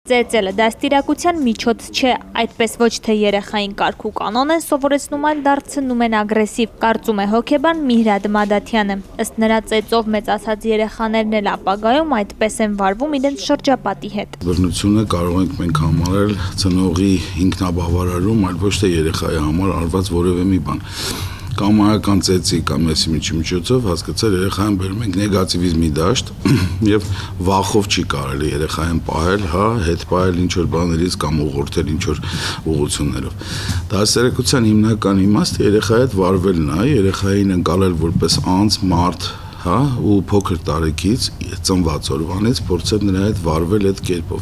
Ծեծելը դաստիարակության միջոց չէ, այդպես ոչ թե երեխային կարգ ու կանոն են սովորեցնում, այլ դարձնում են ագրեսիվ, կարծում է հոգեբան Միհրադ Մադաթյանը։ Ըստ նրա, ծեծով մեծացած երեխաներն էլ ապագայում այդպես են վարվում իրենց շրջապատի հետ։ Բռնությունը կարող ենք մենք համարել ծնողի ինքնաբավարարում, այլ ոչ թե երեխայի համար արված որևէ մի բան։ Կամայական ծեծի կամ եսիմիջի միջոցով հասկացել երեխային բերում ենք նեգատիվիզմի դաշտ եւ վախով չի կարելի երեխային պահել, հետ պահել ինչ որ բաներից կամ ուղղորդել ինչ որ ուղղություններով։ Դասերակցության հիմնական իմաստը երեխայի հետ վարվելն է, երեխային ընկալել որպես անձ, մարդ, ու փոքր տարեկից ծնված օրվանից փորձել նրա հետ վարվել այդ կերպով։